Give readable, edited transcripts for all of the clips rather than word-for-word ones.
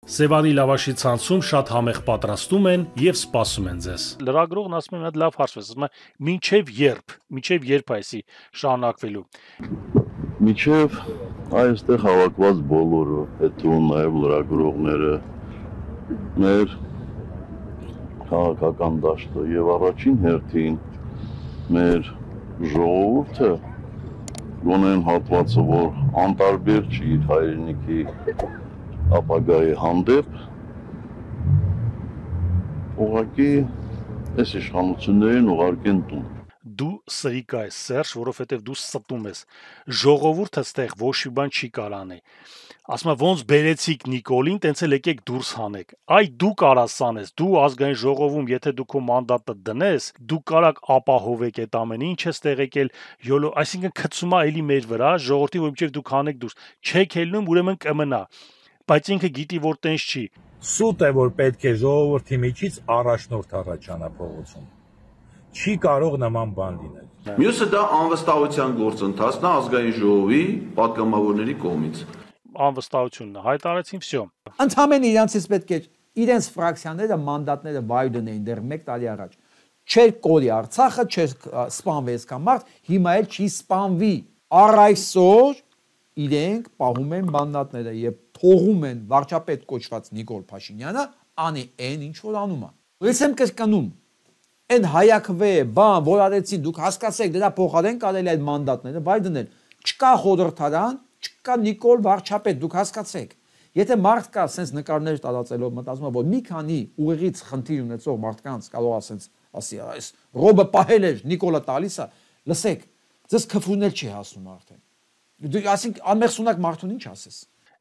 Սևանի լավաշի ցանցում շատ համեղ պատրաստում են եւ սպասում են ձեզ։ Լրագրողն ասում է մի հատ լավ հարց, ասում է մինչեւ երբ այսի շարունակվելու։ Մինչեւ այստեղ հավաքված բոլորը, հետո նաեւ լրագրողները, մեր քաղաքական դաշտը եւ առաջին հերթին մեր ժողովուրդը գոնեն հատվածը, որ անտարբեր չի իր հայրենիքի ապագայի հանդեպ, ուղղակի այս իշխանություններին ուղարկեն տուն։ Դու սրիկա ես, Սերժ, որովհետև դու ստում ես։ Ժողովուրդը ստեղ ոչ մի բան չի կարանի։ Ասում եմ, ոնց բերեցիք Նիկոլին, տենց էլ եկեք դուրս հանեք։ Այ դու կարաս սանես, դու ազգային ժողովում, եթե դու քո մանդատը դնես, դու կարաք ապահովեք այդ ամենը, ինչ ես տեղ եկել յոլո, այսինքն քցումա էլի մեր վրա, ժողովրդի, որ մինչև դուք հանեք դուրս։ Չեք ելնում, ուրեմն կմնա։ Բայց ինքը գիտի, որ տենց չի։ Սուտ է, որ պետք է ժողովրդի միջից առաջնորդ առաջանա փողոցում։ Չի կարող նման բան լինել։ Մյուսը դա անվստահության գործընթացն է ազգային ժողովի պատգամավորների կողմից։ Անվստահությունն է, հայտարարեցին, վсё։ Ընդհանրապես իրանցից պետք է իրենց ֆրակցիաները մանդատները վայրդեն էին դեռ 1 տարի առաջ։ Չէր կորի Արցախը, չէր սպանվի այսքան մարդ, հիմա էլ չի սպանվի։ Առ այսօր իրենք պահում են մանդատները եւ թողում են վարչապետ կոչված Նիկոլ Փաշինյանը անի այն ինչ որ անում է։ Ես եմ կրկնում, այն հայակվե բան, որ արեցին, դուք հասկացեք, դրա փոխարեն կարելի է այդ մանդատները վայր դնել։ Չկա խորհրդարան, չկա Նիկոլ վարչապետ, դուք հասկացեք։ Եթե մարդ կա sense նկարներ տարածելով մտածում որ մի քանի ուղիղից խնդիր ունեցող մարդկանց կարող է sense ասի, այս ռոբը պահել էր Նիկոլը տալիս է, լսեք, ձեզ քֆունել չի հասնում արդեն։ Դու ասենք անմեղսունակ մարդուն ինչ ասես։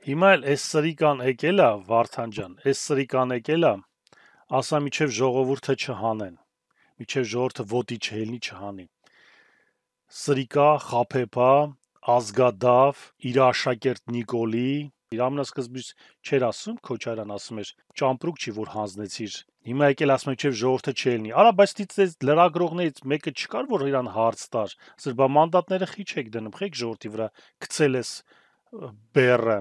Հիմա էլ այս սրիկան եկել է Վարդան ջան, այս սրիկան եկել է, ասա միջև ժողովուրդը չհանեն, միջև ժողովուրդը ոտի չհելնի չհանի։ Սրիկա, խափեփա, ազգադավ, իր աշակերտ Նիկոլի, իր ամենասկզբից չէր ասում, Քոչարյան ասում էր, ճամպրուկ չի որ հանձնեցիր։ Հիմա եկել ասում է միջև ժողովուրդը չելնի։ Արա, բայց դից լրագրողներից մեկը չկար որ իրան հարց տար։ Ասր բա մանդատները խիչ եք դնում, խեք ժողովրդի վրա գցել ես բեռը։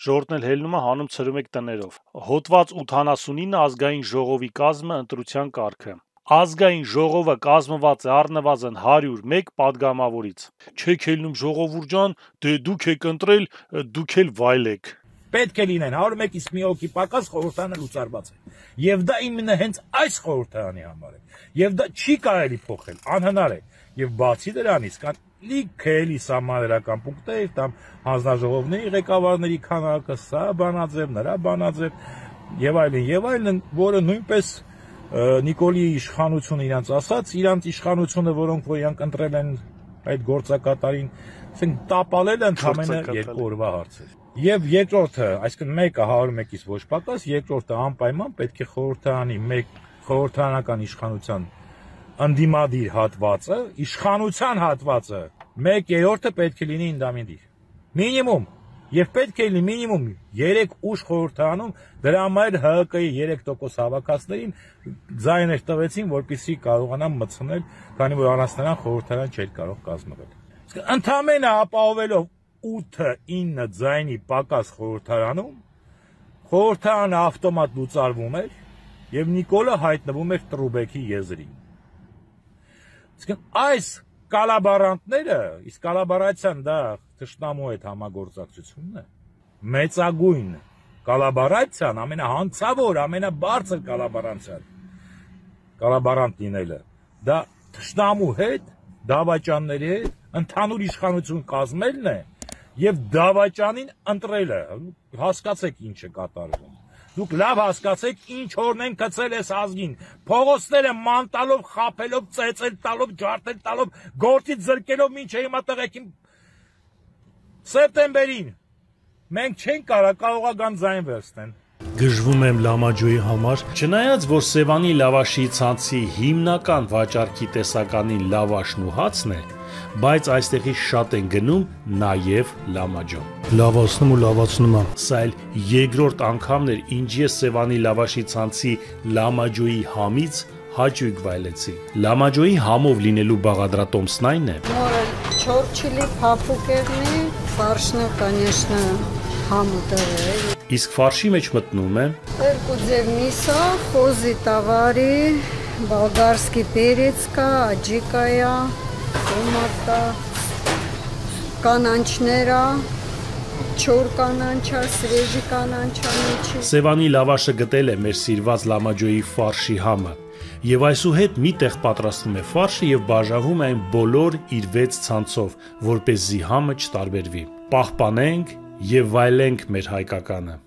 Ժողովուրդն էլ հելնում է հանում ցրում եք տներով։ Հոդված 89 ազգային ժողովի կազմը ընտրության կարգը։ Ազգային ժողովը կազմված է առնվազն 101 падգամավորից։ Չեք ելնում ժողովուրդ ջան, դե դուք եք ընտրել, դուք էլ վայելեք։ Պետք է լինեն 101-ից մի հոգի պակաս խորհրդանը լուծարված է։ Եվ դա իմенно հենց այս խորհրդարանի համար է։ Եվ դա չի կարելի փոխել, անհնար է։ Եվ բացի դրանից կան լիքելի սահմանադրական պունկտեր, там հանձնաժողովների ղեկավարների քանակը, սա բանաձև, նրա բանաձև եւ այլն, որը նույնպես Նիկոլի իշխանությունը իրանց ասած, իրանց իշխանությունը, որոնք որ իրանք ընտրել են այդ գործակատարին, ասենք տապալել ընդհանրապես 2 օրվա հարցեր։ Եվ երկրորդը, այսինքն մեկը 101-ից ոչ պակաս, երկրորդը անպայման պետք է խորհրդարանի խորհրդարանական իշխանության ընդդիմադիր հատվածը, իշխանության հատվածը 1/3-ը պետք է լինի ինդամինդիր։ Մինիմում։ Եվ պետք է լինի մինիմում 3 ուժ խորհրդարանում, դրա համար ՀՀԿ-ի 3% հավաքածներին ձայներ տվեցին, որպեսզի կարողանան մտցնել, քանի որ առանց նրան խորհրդարան չէր կարող կազմվել։ Ընդհանրապես ապահովելով 8-9 ձայնի պակաս խորհրդարանում, խորհրդարանը ավտոմատ լուծարվում էր եւ Նիկոլը հայտնվում էր Տրուբեկի եզրին։ Այս կալաբարանտները, իսկ կալաբարացիան դա թշնամու հետ համագործակցությունն է։ Մեծագույն կալաբարացիան, ամենահանցավոր, ամենաբարձր կալաբարանտ լինելը, դա թշնամու հետ, դավաճանների հետ ընդհանուր իշխանություն կազմելն է եւ դավաճանին ընտրելը։ Հասկացեք ինչ է կատարվում։ Դուք լավ հասկացեք ինչ օրն են գցել այս ազգին, փողոցները ման տալով, խափելով, ծեծել տալով, ջարդել տալով, գործից զրկելով մինչև հիմա տղեկին սեպտեմբերին։ Մենք չենք կարողա գան ձայն վերցնեն։ Գժվում եմ Լամաջոյի համար, չնայած որ Սևանի լավաշի ցանցի հիմնական վաճառքի տեսականին լավաշն ու հացն է, բայց այստեղից շատ են գնում նաև Լամաջո։ Լավացնում ու լավացնում եմ։ Սա էլ երկրորդ անգամն էր, ինչ ես Սևանի լավաշի ցանցի Լամաջոյի համից հաճույք վայելեցի։ Լամաջոյի համով լինելու բաղադրատոմսն այն է։ Նորը չոր չիլի փափուկերնի, ֆարշնը, конечно, համը դրել։ Իսկ ֆարշի մեջ մտնում է երկու ձև միսա, խոզի տավարի, բալգարսկի պերեցկա, աջիկայա, տոմատա, կանանչներա, չոր կանանչա, սրեժի կանանչա միջի։ Սևանի լավաշը գտել է մեր սիրված լամաջոյի ֆարշի համը։ Եվ այսուհետ մի տեղ պատրաստվում է ֆարշը եւ բաժանվում այն բոլոր իր 6 ցանցով, որպեսզի համը չտարբերվի։ Պահպանենք եւ վայելենք մեր հայկականը։